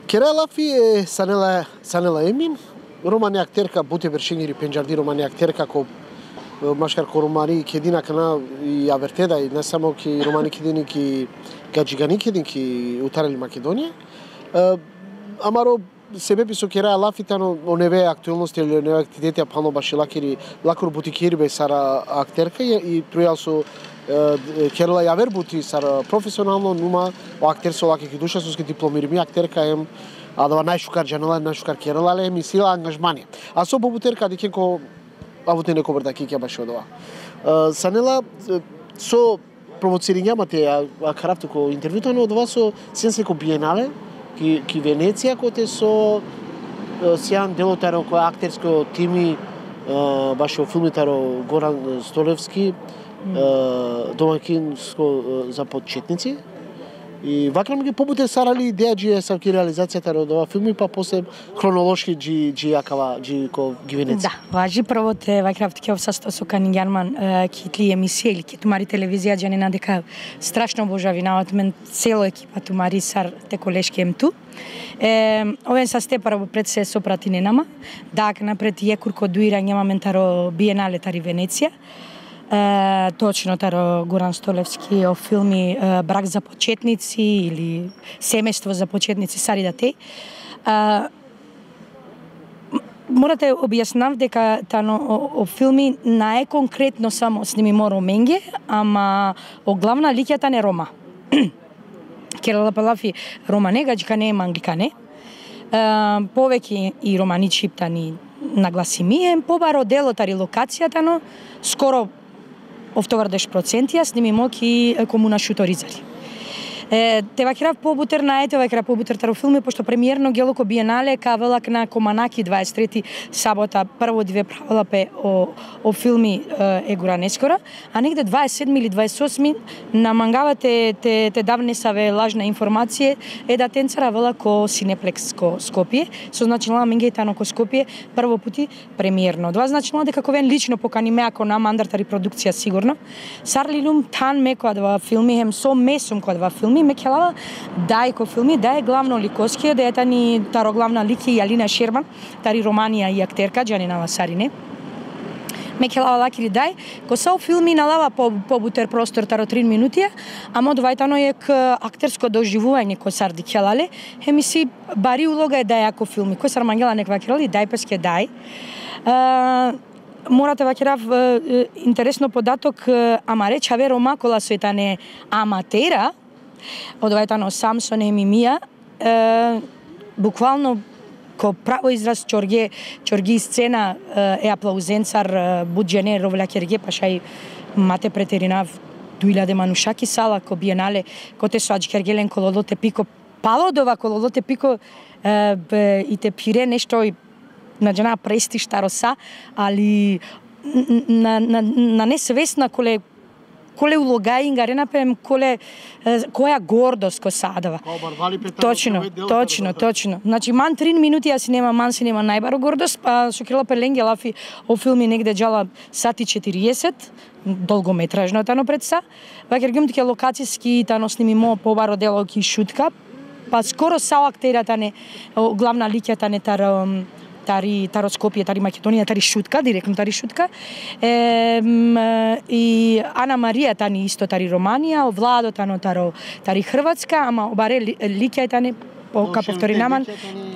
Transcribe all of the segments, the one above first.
Кераја Лафи е Санела Емин, романи актерка буте вершингири пенџарди романи актерка ко машкар ко романи кедина кана и авертеда и не само ки романи кедини ки гаджигани кедин ки утарели Македонија. Амаро себепи со Кераја Лафи тано оневе актуелности или оневе активитети пано башилакири лакур бутикири бе сара актерка и трујал со Керла јавер бути сар професионално нума актерсо лаки ки душа со дипломири ми актерка ем а да најшукар жанела најшукар Керла ле ми сила ангажмани. А со бобутерка дикенко авоте неко брда ки ќе баше одова. Санела со провоцирањамате а караптуко интервјуто на одова со сенсеко биенале ки Венеција коте со сјан делотаро кој актерско тими баше филмитаро Горан Столевски домаќинско за почетници. И вака ми ги побуте сарали идеја джи са ки реализацијата од ова филми па после хронолошки джи јакава джи ко ги Венеција. Да, важи прво те вакрафт ке обсасто со Канингерман китли емисија или ки тумари телевизија џанина дека страшно обожавинават мен цело екипа тумари сар те колешки емту. Овен са степара пред се сопрати ненама, дак напред јекурко дуирање маментаро биенале тари Венеција. Точно таро Горан Столевски о филми Брак за почетници или Семејство за почетници сари да теј. Морате објаснав дека тано о филми наe конкретно само сними моро менге, ама о главна лиќата не Рома. Кераја Лафи Рома не гаджика не мангликане. Повеќе и романи чиптани нагласимије, побаро делотари локацијата, но скоро овтовардеш процентија сними моки комуна Шуторизари. Те вакирав побутер на ете вакира побутер таро филми пошто премиерно гелоко биенале кавелак на Команаки 23 сабота прво две правила пе о филми егура нескора, а негде 27 или 28 на мангавате те давнесаве лажна информација е да тенцара вела ко Синеплекс ко Скопје, со значилна менгејтано ко Скопје прво пути премиерно. Два значилна дека ковен лично покани ме ако на мандартари продукција сигурно. Сарлилум тан ме која два филми хем со месум која два филми ме келава дај ко филми, дај главно ликоскија, да е тани таро главна лики Јалина Шерман, тари романија и актерка, Џанина Сарине. Ме келава лакири дај, ко са филми налава побутер простор таро 3 минути, ама одвајтано е к актерско доживување ко сарди келале, хеми си бари улога е дај ако филми, кој сар мангела неква келали, дај песке дај. Морате вакирав интересно податок, ама реч аве Рома кола со етане аматера, одвајтано Самсон и Мимија, буквално ко право израз чорги сцена е аплаузенцар буџене ровля керге пашај мате претеринав 2000 манушаки сала ко биенале коте со аџкергелен кололоте пико палодова кололоте пико и те пире нешто на джана прести штароса, али на несвесна коле улога ингарена пем која гордост ко садава. Точно. Значи ман 3 минути си нема најбаро гордост, па со Кераја Лафи Лафи о филми негде джала сати 40, долгометражно тано пред са. Вакер гум тие локацијски тано сними мо побаро дело ки шутка, па скоро са актерата не главна лиќата не таро Скопје, тари Македонија, тари шутка, директно тари шутка. И Ана Марија тани исто тари Романија, Владо тано тари Хрватска, ама обаре лиќа тани ка повторинаман,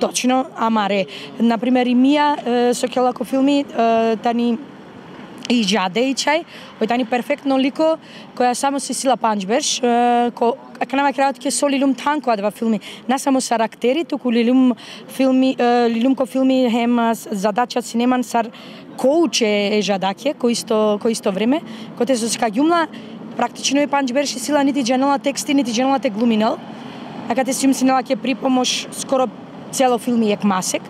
точно, амаре. Например, и Мија со келако филми тани и Жаде и Чај, кој тани перфектно лико, која само се сила панџбеш, канава крајот ке со лилум танко два филми, не само сар актери, туку лилум ко филми хем задача си неман сар коуче е Жадаке, кој исто време, кој те со скаѓумла, практично е панџбеш и сила нити джанела тексти, нити джанела те глуминал, а кате си мислинала ке припомош скоро цело филми ек масек.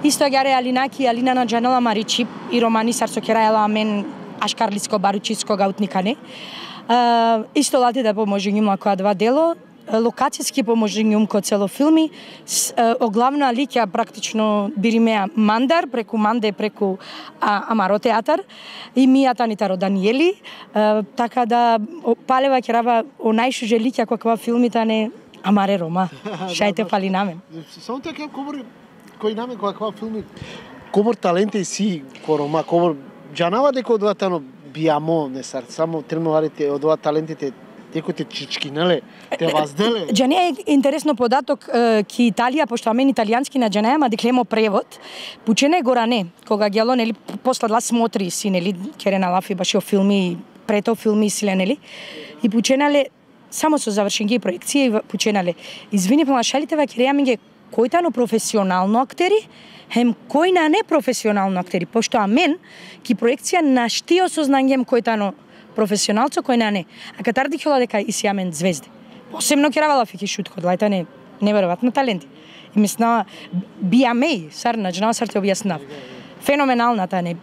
Исто јаре Алинаки, Алина на Джанела Маричи и романи сар со Кераја мен ашкарлиско баручиско гаутникане. Исто лати да поможи njima која два дело, локацијски поможи njum ко цело филми, о главна лиќа практично биримеа Мандар, преку Манде, преку Амаро театар, и Мија Танитаро Даниели, така да палева керава о најшуже лиќа која филмите не Амаре Рома. Шајте фали на мен. Само така говори кој на мен која филми комор таленти си ко Рома, комор џанава дека одватано биамо не сар само тренуварите одва талентите теко те чичкинале, те вазделе. Джане е интересно податок ки Италија, пошто мен италијански на Джане, ама деклемо превод. Пучене горане, кога гело нели посладла смотри си нели керена лафи башо филми, прето филми силе нели. И пученале само со завршенги проекција и пученале. Извини помашалите ва кереаминге којтано професионално актери, хем кој на непрофесионално актери, пошто амен ки проекција на штио сознангем којтано професионалцо кој на не. А катар дихела дека и сиамен звезди. Посебно керавала фики шут код лајта не неверојатно таленти. И мисна биамеј сар наџнава сар те објаснав. Феноменалната не.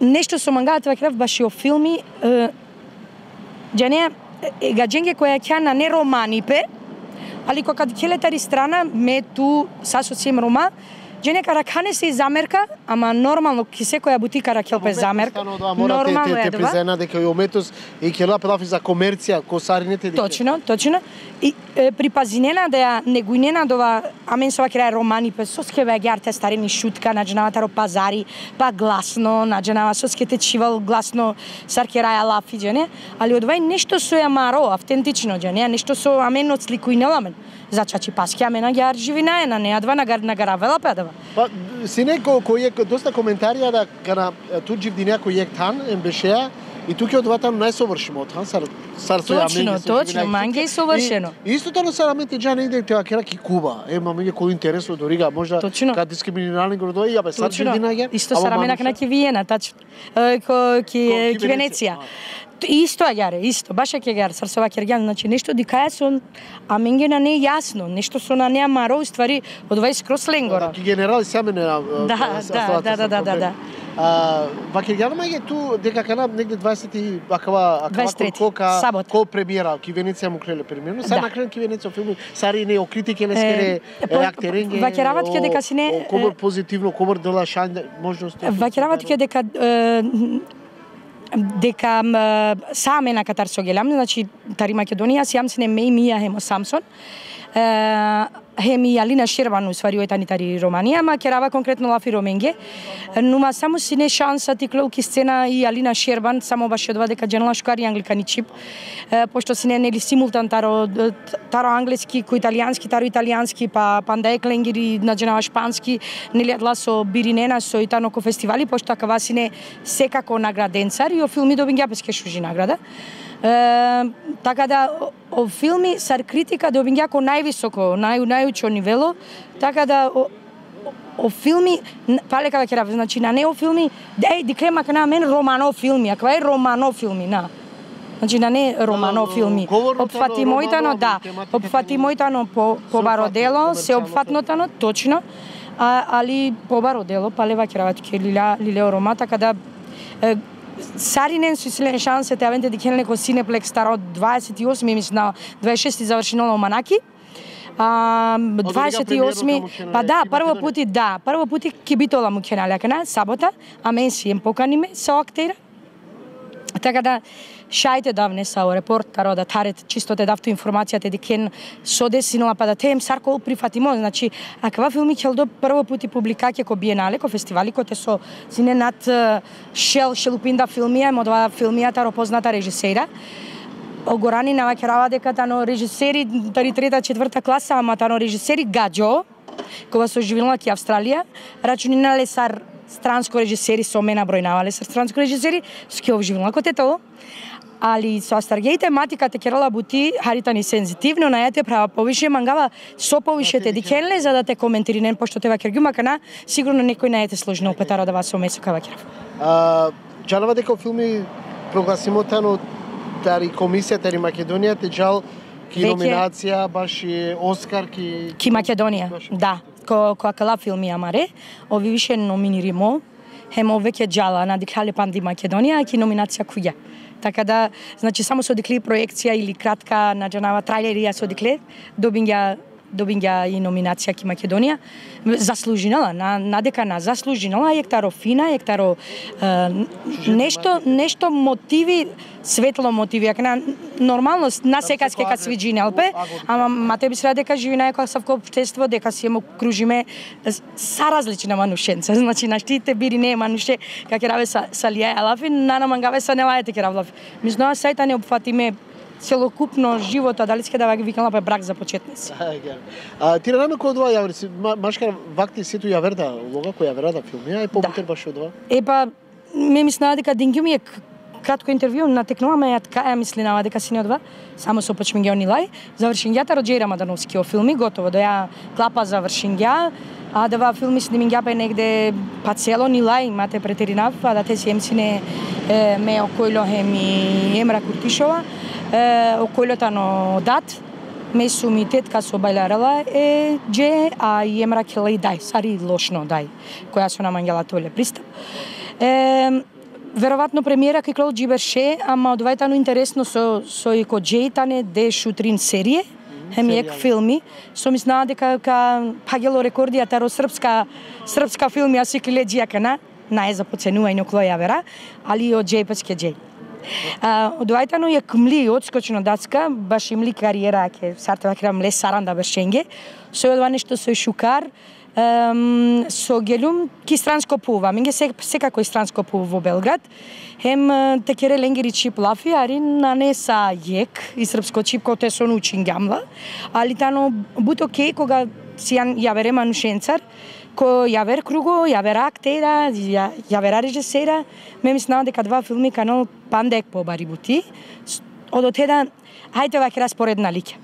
Нешто со мангалата ваќрав баш и о филми Джане гадженге која ќе на не романипе, али кога келетари страна ме ту сасоцием Рома, Джене каракане се замерка, ама нормално ки секоја бутика ракелпе замерка. Нормално е да презена дека и ометос и кела пелафи за комерција, косарините дека. Точно. И припазинена да ја негуинена дова амен со вакера романи пе соске веѓарте старини шутка наџнавата ро пазари, па гласно наџнава соске течивал гласно саркераја лафи Джене, али одвај нешто со јамаро автентично Джене, нешто со амен отсликуинела мен. Зачачи паски амена ги арживина е на неадва на гаравела педава. Па сине кој е доста коментарија да кана туџив ди некој ек тан ембешеа и тука одватано најсовршимо од хан сар со јамен. Точно, манге е совршено. Исто тоа сараменте џана иде теа кераки Куба. Ема меѓу кој интересно дорига можда кад дискриминирални градови, абе сар динага. Исто сарамена на ки Виена, тачно. Ки Венеција. Исто агаре, исто, баш ќе гар сарсова кергјан, значи нешто дикаја со а менге на не јасно, нешто со на неа маро ствари од 20 крос ленгора. Ки генерали саме не. Да. Вакергјан маје ту дека кана негде 20 акава кока ко премиера ки Венеција му креле премиера, са на крен ки Венеција филми сари не о критике лескере актеринге. Вакерават ке дека сине комор позитивно, комор дела шан можности. Вакерават ке дека саме на катар со гелам, значи тари Македонија сиам сине меј мија хемо Самсон. Хеми Алина Шербан усвари ојтани тари Романија, ама керава конкретно лафи Роменге. Нума само сине шанса ти клоуки сцена и Алина Шербан само баш одва дека дженала шкари англикани чип. Пошто сине нели симултан таро англиски ко италијански, таро италијански, па пандаек ленгири на дженава шпански, нели адла со биринена со итано ко фестивали, пошто акава сине секако награденцар и о филми добиња песке шужи награда. Така да о филми сар критика добиња ко највисоко, најучо нивело, така да о филми палека веќе значи на не о филми, диклема на мен романо филми, аква е романо филми на. Значи на не романо филми. Опфати мојтано, да. Опфати мојтано по бародело, се опфатнотано точно. Али по бародело палева керават ке лилео рома, така да Саринен со силен шансе те авенте дикенеле ко Синеплекс старо 28 мисля 26 завршено на Оманаки. 28 па да, прво пути ќе битола му кенале кана сабота, а мен си ем поканиме со актера. Така да шајте давне са репортаро да тарет чисто те давту информацијата дикен со десинала па да тем сарко прифатимо, значи аква филми ќе до прво пути публикаќе ко биенале, ко фестивали ко те со сине над шелупинда филмија, модва филмијата ро позната режисера. Огорани навакерава дека тано режисери тари трета, четврта класа, ама тано режисери гаджо, кога со живеела ки Австралија, рачунинале сар странско режисери со мене бројнавале сар странско режисери, со ке обживела ко тето. Али со Астаргеј тематиката керала бути харитани сензитивно, на јате права повише мангава со повишете дикенле за да те коментиринен, пошто те вакергјума кана, сигурно некој на јате сложно опетара да вас со месо кавакерав. Джалава дека филми прогласимотано тари комисија, тари Македонија, те джал ки номинација, баш и Оскар ки Македонија, да. Која кала филми амаре, ови више номиниримо, хемо веќе джала на диклале панди Македонија, ки номинација куја. Така да, значи само со дикли проекција или кратка на джанава трајлерија со дикле, добиња добиња и номинација ки Македонија. Заслужинала, надека на заслужинала, ектаро фина, ектаро нешто мотиви, светло мотиви, на нормално на секас ке свиджи нелпе, ама мате би среда дека живи на екоасавко општество, дека си емо кружиме са различна манушенца, значи наштите бири не е мануше, како раве са лија алафи, нана мангаве са нелајате ке равлафи. Мислно сајта не опфатиме целокупно живота, дали ске да викнала па брак за почетници. Ти рано кој одва јаври, машкар вакти сету јаверда, лога кој јаверда филми, побутер баш одва? Па ме мислеа дека Дингју ми е кратко интервју, натекнуваме ја така ја мислинава дека си не одва, само со почмингја онилај, завршингјата Роджејра Мадановски о филми, готово, да ја клапа завршингја, а да ва филми снимингја бе негде па цело нилај, имате претеринав, а да те си емсине ме окојло хеми Емра Куртишова, окојлотано дат, месу ми тетка со бајларала дже, а и Емра келај дај, сари лошно дај, која со намангела толе пристап. Веројатно премиера кај Клод Джиберше, ама одвајтано интересно со и ко Джейтане де шутрин серие, хемиек филми, со мислаа дека пагело рекорди таро српска филми аси клеџија кана, нај за поценување околу јавера, али од Джейпецке Джей. Одвајтано е кмли одскочно дацка, баш имли кариера ке сартава кра мле саранда бершенге, со одва нешто со шукар, со гелум ки странско пува, минге секако и странско пува во Белград. Хем текере ленгери чип лафи, ари на не са јек и српско чип кој те со научин гамла, али тано буто кеј кога си јавере манушенцар, ко јавер круго, јавер актера, јавера режисера, ме мислам дека два филми канал пандек по бари бути, од теда хајте ваќе распоредна лиќа.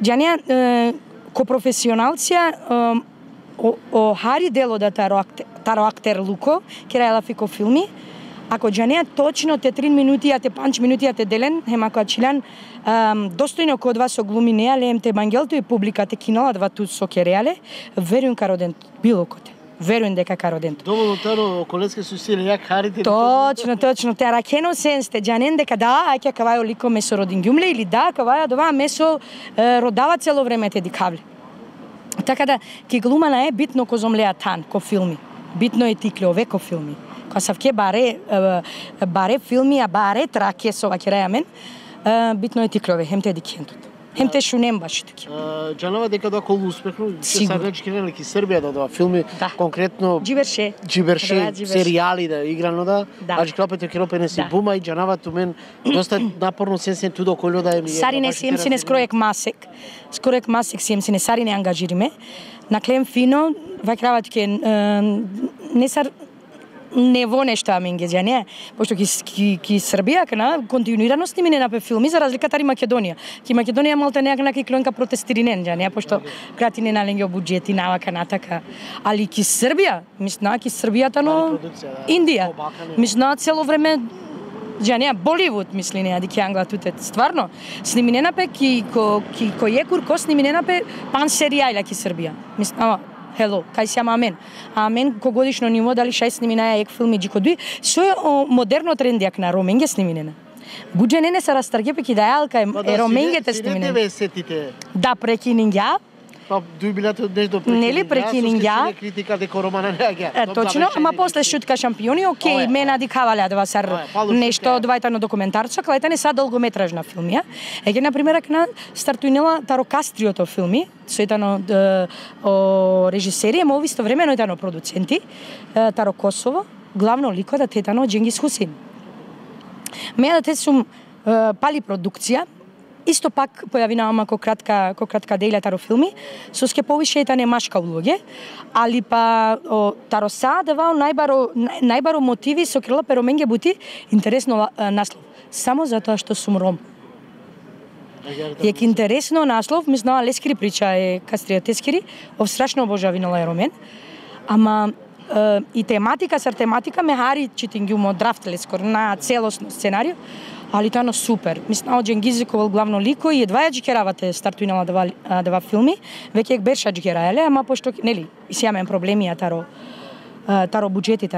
Џанија ко професионалција о хари дело да таро актер Луко, кера фико филми, ако џанија точно те 3 минути, а те 5 минути, а те делен, хема која чилан, достојно кod вас оглуми неале, ем те бангелто и публикате кинала два тут со кереале, верујам кародент, било коте. Верујам дека кародент. Доволно таро колеске су сили јак харите. Точно. Те ракено сенсте, џанен дека да, ајке кавајо лико месо родин ѓумле или да, каваја дова месо родава цело време те дикавле. Така да, ке глумана е битно ко зомлеа тан, ко филми. Битно е тикле ове ко филми. Ка савке баре филми, а баре траке со вакераја мен, битно е тикле хем те дикентот. Хем те шунем баш таки. Џанова дека да колу успехно, се сагачки релики Србија да филми конкретно Джиберше, серијали да играно да. Аџи клопете кропе не си бума и џанава ту мен доста напорно сенсен ту доколу да е. Сари не си емсине скроек масек си емсине сари не ангажириме. На клем фино, вакрават ке не сар не во нешто аминге џанија, пошто ки Србија кана континуирано снимине на филми за разлика тари Македонија. Ки Македонија малте некака клонка протестиринен џанија, пошто крати не наленге буџети навака натака. Али ки Србија, мисна ки Србијата Индија. Мисна цело време џанија Боливуд мисли неа дека англа туте стварно сниминена пе ки екур ко сниминена пе пан серијала ки Србија. Мисна Hello, кај си амен. Амен ко годишно ниво дали 6 сниминаја ек филми джикодуи, со модерно трендијак на роменге сниминена. Буџене не се растаргепе ки да јалка е роменгете сниминена. Да прекининѓа. Па дујбилате од нешто прекининѓа. Нели прекининѓа. Критика дека романа не аѓа. Точно, ама после шутка шампиони, окей, мена дикавале да сар нешто одвајтано документарчо, клајта не са долгометражна филмија. Еге на пример на стартуинела таро Кастриото филми, соетано режисери, ама исто времено етано продуценти, таро Косово, главно лико да тетано Џенгис Хусин. Меја да те сум пали продукција, исто пак појавинаа ко кратка дејле таро филми, со ске повише етане машка улоге, али па таро садава најбаро мотиви со крила пероменге бути интересно наслов. Само затоа што сум ром. Јек интересно наслов, ми знала лескири прича е Кастриотескири, страшно обожавинала е ромен, ама и тематика ме хари читингјумо драфт лескор на целосно сценарио, али тано супер. Мислам Џенгизиковал главно лико и едва ја џикеравате стартуинала дава филми, веќе ек берша џикераеле, ама пошто нели си јамен проблеми таро буџети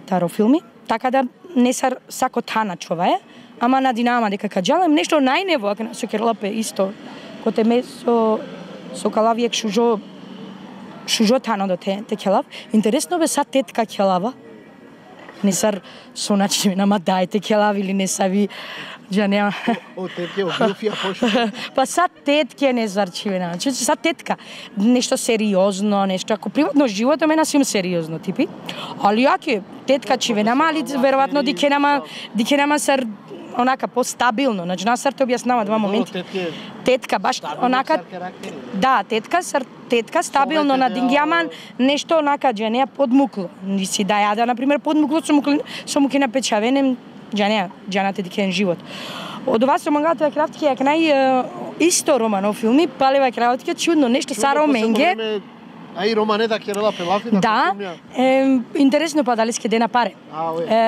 таро филми, така да не сар сако тана човаја, ама на динама дека каѓалам нешто најнево ако на со керлапе исто коте месо со калавиек шужо тано до те келав. Интересно бе са тетка келава. Не сар со начини нама дајте келав или не са ви Джанеа. О, тетке, обилфија пошто. Па са тетке не зарчивена. Значи са тетка. Нешто сериозно, нешто ако приватно живото мене сум сериозно типи. Али јаке тетка чивенама, али веројатно дикенама сар онака постабилно. Значи насар те објаснава два моменти. Тетка баш онака. Да, тетка стабилно на дингјаман нешто онака Джанеа подмукло. Ни си да јада на пример подмукло со муки на печавене Джаната дикен живот. Од ова со мангалата кратки ја кнај исто романо филми, палева кратки чудно нешто Сара Менге. А и романета Керела Пелафи да, интересно па дали ке дена паре.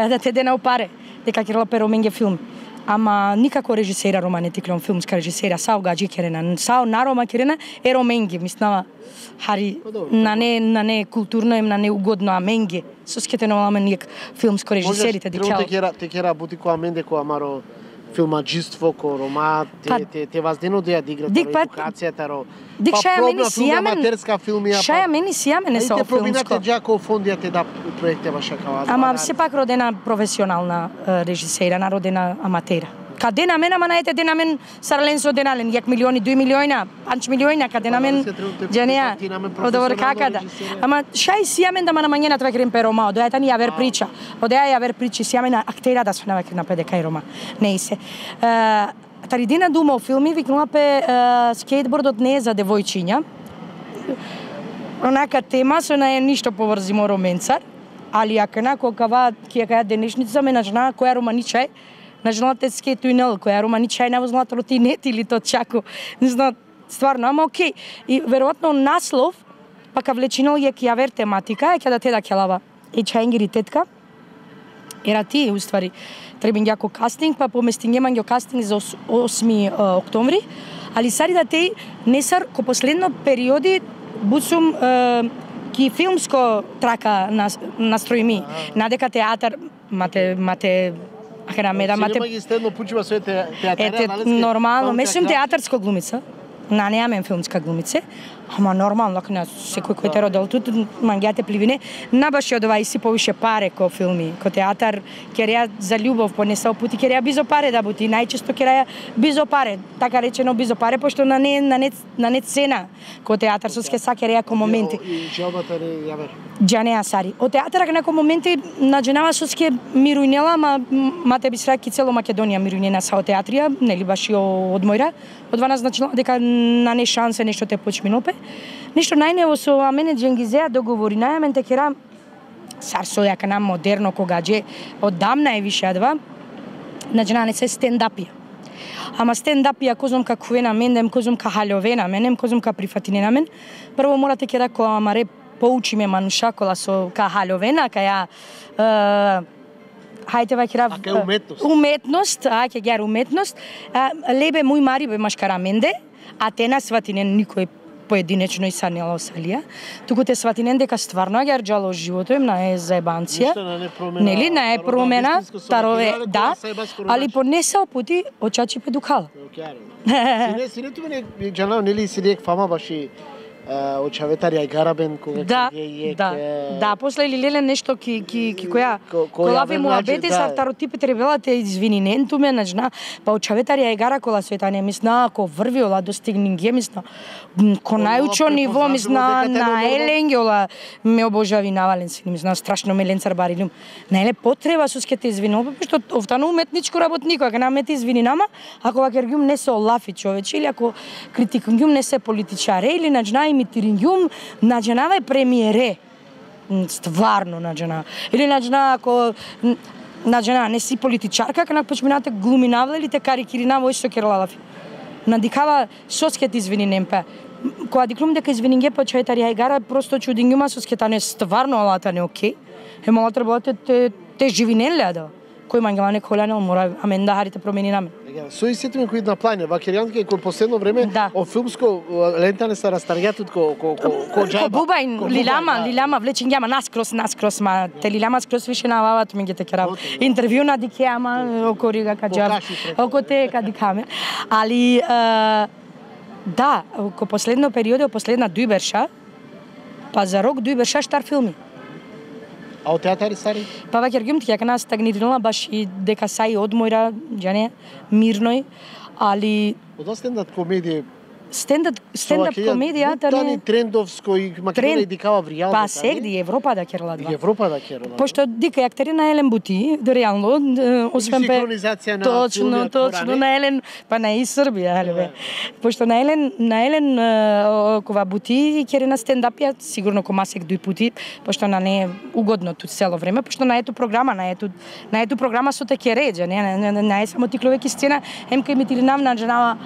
Да те дена паре дека Керела Менге филм. Ама никако режисера романети клон филмска режисера Сао Гаджи Керена. Сао на Рома Керена е Роменге, мислама хари на не културно им на не угодно аменге. Со скете нормално нијак филмско режисерите дикал. Те кера бути која аменде која маро филмаџиство, ко рома, те ваздено да ја диграт едукацијата ро. Дик шаја мени сијамен. Аматерска филмија. Шаја мени сијамен со филмско. Те пробинате џако фондијате да проекте ваша кава. Ама сепак родена професионална режисера, народена аматера. Каде на мен, ама наете де на мен Сарленсо денален, 1 милиони, 2 милиони, 5 милиони, каде на мен Джанеа, одовор какада. Ама шај сијамен да ма намањена това крем пе Рома, одеја тани ја вер прича. Одеја ја вер причи сијамена актера да свена векер на ПДК и Рома. Не се. Таридина дума о филми викнула пе скейтбордот не е за девојчиња. Онака тема со на е ништо поврзимо роменцар, али ако нако кава ќе каја денешница ме начна која романичај на те скейтуинел, која романичај не возла тротинет или то чако. Не знам, стварно, ама окей. И веројатно наслов, пака влечинал е ќе вер тематика, е ќе да те да келава. И чајнгери тетка, ера ти, уствари, требен јако кастинг, па поместингеман ја кастинг за 8 октомври, али сари да теј не сар, ко последно периоди, буцум ки филмско трака настроими, надека театар, мате Синема ги стедно пучува со театар. Нормално, ме сум театарска глумица. Неамен филмска глумица, ама нормално, ако на секој кој те родил тут, мангијате пливине, набаше од ова и си повише паре ко филми, ко театар, кереја за љубов, понесал пути, кереја бизо паре да бути, најчесто кереја бизо паре, така речено бизо паре, пошто на не цена, ко театар, со ске са кереја ко моменти. И джалбата не ја вер. Джанеа Сари. Од театар на моменти наџенава со ске мирујнела, мате би сраки цело Македонија мирујнена са од театрија, нели баш и од мојра. Од вана значило дека на не шансе нешто те почминопе. Нешто најнево со мене Дженгизеа договори најамен те кера сар со јака на модерно когаџе оддамна е више адва. Наџена не се стендапија. Ама стендапија козум ка куена мен, козум ка халјовена мен, козум ка прифатинена мен. Прво морате кера ко амаре поучиме манушакола со ка халјовена, ка ја хајте вакира уметност, ќе гер уметност. Лебе мој мари бе машкараменде, а те на сватинен никој поединечно и санела осалија. Туку те сватинен дека стварно ја рџало живото им на заебанција. Нели на промена, тарове, да, али понесал пути очачи педукала. Синето мене џано нели си рек фама баши очаветар ја гарабен кога да, после Лилеле нешто ки која колаве муабети са второтипите ребелате извининентуме наџна па очаветар ја гара кола света не мисна ко врвиола достигнинге мисна ко најучо ниво мисна на еленгола ме обожави навален си мисна страшно меленцар барилум наеле потреба сускете извинува што офтано уметничко работнико ако намете извининама ако вакергум не се олафи човече или ако критикунгум не се политичаре или наџна имитирингум наџнава е премиере стварно наџна или наџна ако наџна не си политичарка кога почминате глуминавле или те карикиринава ој што керлалафи надикава соскет извининемпе кога диклум дека извининге па човетар ја игара просто чудингума соскета не стварно алата не окей мала треба те живинеле да кој мангала не коланел мора аменда харите промени на мен. Со истите кои на плање, вакеријантки кој последно време о филмско лентане се растаргјатот ко џаба. Ко бубајн, лилама влечињама наскрос, ма те лилама скрос више навават ми ги те керав. Интервју на дикеама, око рига ка џаба, око те ка дикаме. Али Да, ко последно периоде, последна дујберша, па за рок дујберша штар филми. А од театари стари? Па ваќер гимт ќе кана стагнирала баш и дека сај одмора, џане, мирној, али Од стендап комедија стендап комедија тани трендовско и Македонија дикава вријално. Па сегди Европа да керла два. Европа да керла. Пошто дика актерина Елен Бути, реално освен синхронизација на точно на Елен, па на и Србија, али бе. Пошто на Елен кова Бути керена стендапија сигурно комасек дуј пути, пошто на не угодно тут цело време, пошто на ето програма, на ето програма со те кереџа, не само тикловеки сцена, емка имитиринав на джанава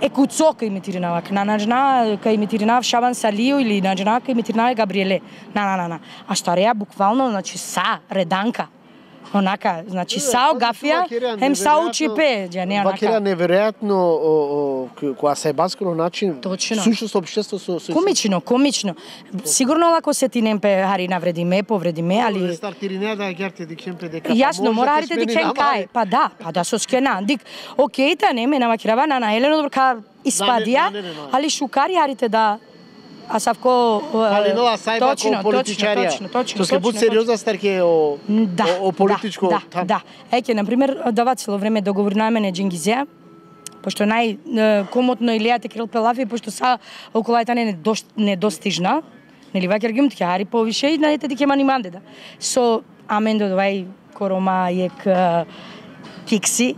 Екуцока имитиринава, кај имитиринав Шабан Салио или кај имитиринава Габриеле. А стареја буквално, значи са реданка. Онака, значи са огафија, хем са учипе, не онака. Вакера неверојатно кога се баскано начин, сушност општество со комично. Сигурно лако се ти немпе хари навредиме, повредиме, али стартиринеа да герте дикемпе дека јасно, мора харите дикен кај. Па да со скена. Дик, окей та не ме на вакерава на Елено добро испадија, али шукари харите да А Савко Калинова сајба ко политичарија. Точно. Што ке буд сериозна старке о политичко там. Да. Еќе на пример дава цело време договор на мене Джингизеа, пошто комотно илијате Кирил Пелафи, пошто са околајта недостижна. Нели вакер гимт ќе хари повише и најте дике маниманде да. Со Амендо довај Корома ек Кикси.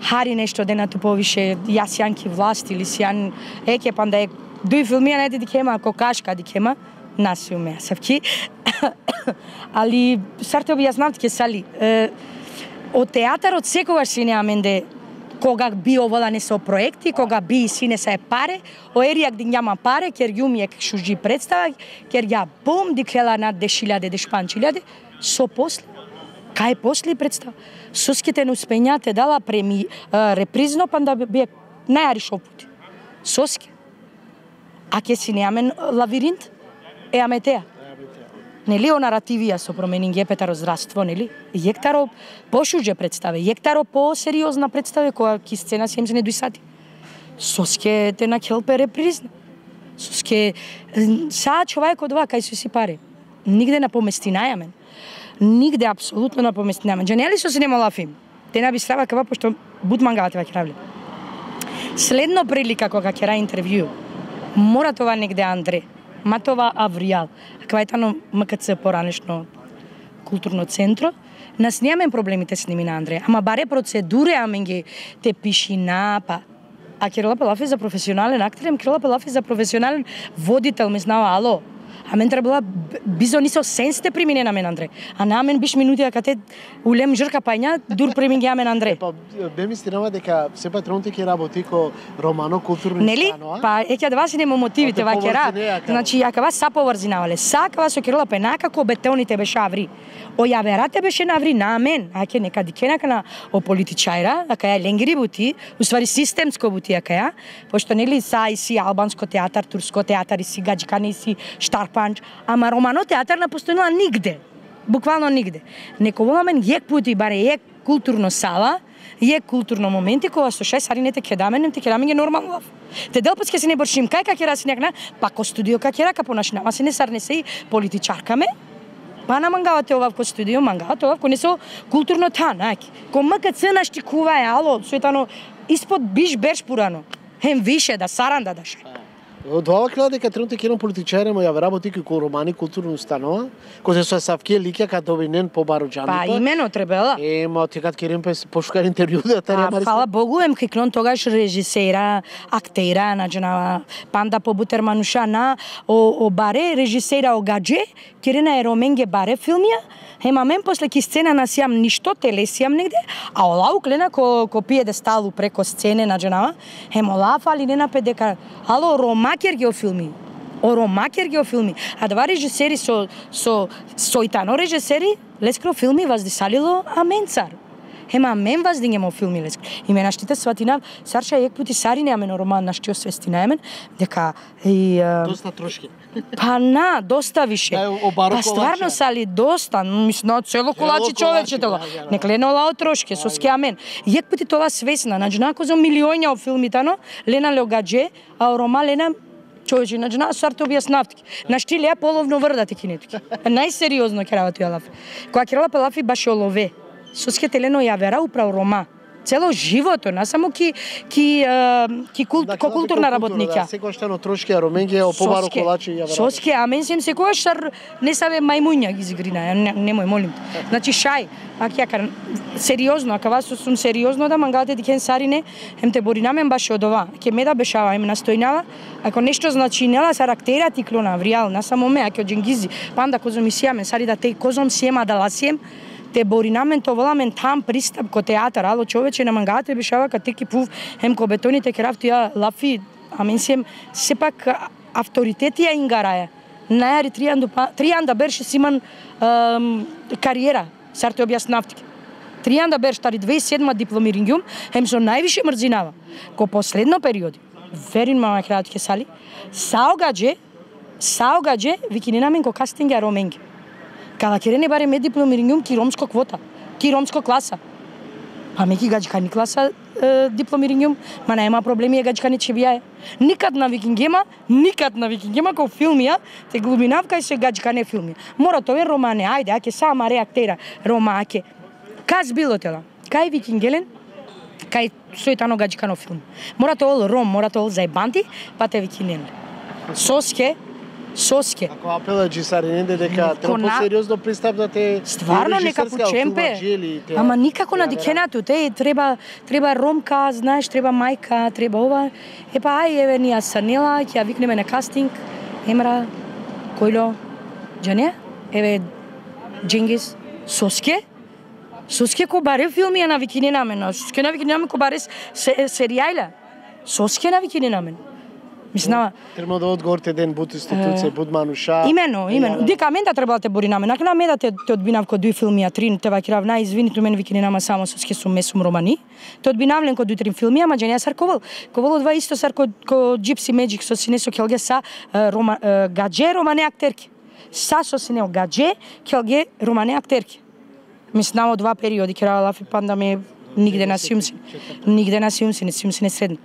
Хари нешто денато повише јас јанки власт или сјан еќе панда е дуј филмија најде дикема кокашка дикема нас уме савки. Али сарте објаснавте ке сали. Од театарот секогаш си Аменде кога би овола не со проекти, кога би си не се паре, оеријак дин јама паре, кер јум ек шужи представа, кер ја бум дикела над 10.000 дешпанчилјаде, со после кај после представа. Соските не успењате дала репризно панда би најари шопути. Соске. А ке си неамен лавиринт, аме теа. Нели о наративија со променин гепетаро здравство, нели? Јектаро пошуже представе, јектаро по-сериозна представе која ки сцена 72 сати. Соске те на келпе репризна. Соске са човекот ова кај си паре. Нигде на поместинајамен. Нигде апсолутно на поместинајамен. Джанели со синема филм. Те на би страва кава пошто бутмангавате ваќе равле. Следно прилика кога ќе ра интервју. Мора това негде Андре, ма това Авријал, квајтано МКЦ поранешно културно центро, нас немаме проблемите с ними на Андре, ама баре процедуре аменги те пишина, па а Кирила Пелафи за професионален актер, Кирила Пелафи за професионален водител, ме знава, ало, а мен требала бизо нисо сенсте примине на мен Андре. А на мен биш минути кате улем жрка пајња дур примин ги мен Андре. Па бе ми стинава дека сепак тронте ќе работи ко романо културни нели? Па еќе да вас нема мотивите вакера. Значи ја кава са поврзинавале. Са кава со Кирила Пенака ко бетоните беше аври. Ојаверате беше наври на мен. Аќе нека дикенака на о политичајра, ака ја ленгири бути, уствари системско бути ака ја, пошто нели са и си албанско театар, турско театар и си гаджкани и си штарпанч, ама романо театар не постојала нигде. Буквално нигде. Неколомен јек пути баре јек културно сала, јек културно моменти кога со 6 саринете ќе даменем, те ќе дамење нормално. Те делпас ќе се не боршим кај ќе раси некна, па ко студио ка ќе рака понашинама се не сарне се и политичаркаме. Па на мангавате овав ко студио, мангавате овав ко не со културно танаки. Ко МКЦ наштикува е, ало, суетано, испод биш берш пурано. Хем више да саранда даше. Од ова крила дека тренутно ќе политичари, ма ја работи ко романи културна установа, кој се со Савки лиќа кај добинен по бароџани. Па имено требела. Ма ти кад керем пошукар интервју да таре мари. Фала Богу, кикнон тогаш режисера, актера, наџана панда по бутермануша на о баре режисера огадже, керена е роменге баре филмија. Ема мен после ки сцена насијам ништо, телесијам негде, а ола уклена ко пиедесталу преко сцене на джанава, ола фали не напе дека ало ромакер ги филми. Ромакер ги филми. А два режисери со итано режисери лескро филми воздисалило Аменцар. Ема мен ваздингемо филми леск. И ме наштите сватинав, сарша ек пути сарине амен роман нашти освести на емен, дека и Доста трошки. па доста више. Па стварно сали доста, мислам цело колачи човечето. Неклено лао трошки, со ски амен. Ек пути тоа свесна, значи нако за милионја од филмитано, Лена Леогадже, а рома Лена човече, значи на сарто објаснавтки. На штилија половно врдати кинетки. Најсериозно ќе работи Лафи. Кога ќе работи Лафи баше олове. Со ски телено ја вера управо рома. Цело живото, не само културна работника. Секој што на трошки роменге побаро колачи ја вера. Соске, а мен сем секојаш шар не саве мајмуња ги згрина, немој молим. Значи шај, ако ја кажам сериозно, ако вас сум сериозно да мангате дикен сарине, хем те боринамен баш од ова. Ќе ме да бешава, им настојнава, ако нешто значи нела са рактера ти клона вриал, на само ме, ако дженгизи, панда козом исијамен, сари да те козом сиема да ласием, те боринамен то воламен там пристап ко театар, ало човече на мангате бешава ка теки пув, хем ко бетоните крафти ја Лафи, а мен сем сепак авторитети ја ингараја. Најари тријанда берше симан кариера, сар те објаснавтики. Тријанда берш тари 2007 дипломирингјум, хем со највише мрзинава. Ко последно периоди, верин мама кратке сали, саогадже викиненамен ко кастинга роменги. Када керене баре ме дипломирингјум ки ромско квота, ки ромско класа. Па ме ки гаџкани класа дипломирингјум, ма нема проблеми е гаџкани че бијае. Никад на викингема ко филмија, те глуминавка и се гаџкане филмија. Мора тоа романе, ајде, аке сама реактера, рома аке. Каз било тела, кај викингелен, кај сојтано гаџкано филм. Мора тоа ром, мора тоа зајбанти, па те викинен. Соске. Ако апела джисариненде дека треба посериозно пристап да те стварно нека почемпе. Ама никако на дикенато, те треба ромка, знаеш, треба мајка, треба ова. Епа ај еве ние Санела, ќе ја викнеме на кастинг. Емра, Којло, Џане, еве Джингис, Соске ко баре филмија на викиненамен, Соске на викиненамен ко баре серијајла. Соске на викиненамен. Мислам, треба да одговорите ден буд институција, буд мануша. Имено. Дека мен да треба да те боринаме. Нака на мен да те одбинав ко дуи филмија, три те вакирав извинито мен викиненама само со скесум месум романи. Те одбинавлен ко дуи три филмија, ама Џаня Сарковал. Ковал два исто сар ко Gypsy Magic со синесо келге са гадже романе актерки. Са со синео гадже келге романе актерки. Мислам од два периоди керава Лафи панда ме нигде на сјумси. Не средно.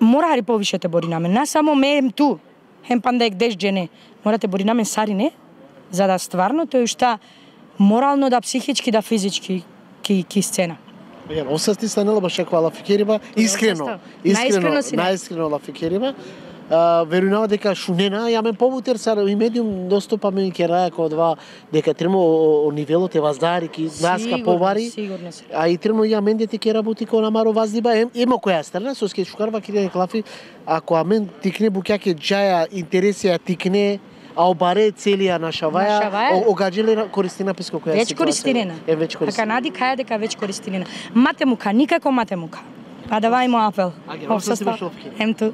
Мора хари повише те боринамен. На само ме ту. Хем панда ек деш джене. Мора те боринамен сарине, за да стварно тој шта морално да психички да физички ки сцена. Осасти Санела баш каква Лафикериба, искрено Лафикериба. Верувам дека шунена ја мен побутер сар и медиум достапаме ке раја ко два дека тремо о нивелот е ваздари ки наска повари. А и тремо ја мен дете ке работи ко намаро ваздиба ема која страна со ски шукарва ки клафи ако амен тикне буќаке џаја интересија тикне а обаре целија нашаваја огаџеле користина песко која веќе користинена. Веќе користинена. Така нади каја дека веќе користинена. Матемука, никако матемука. Па давај му апел. Ем ту.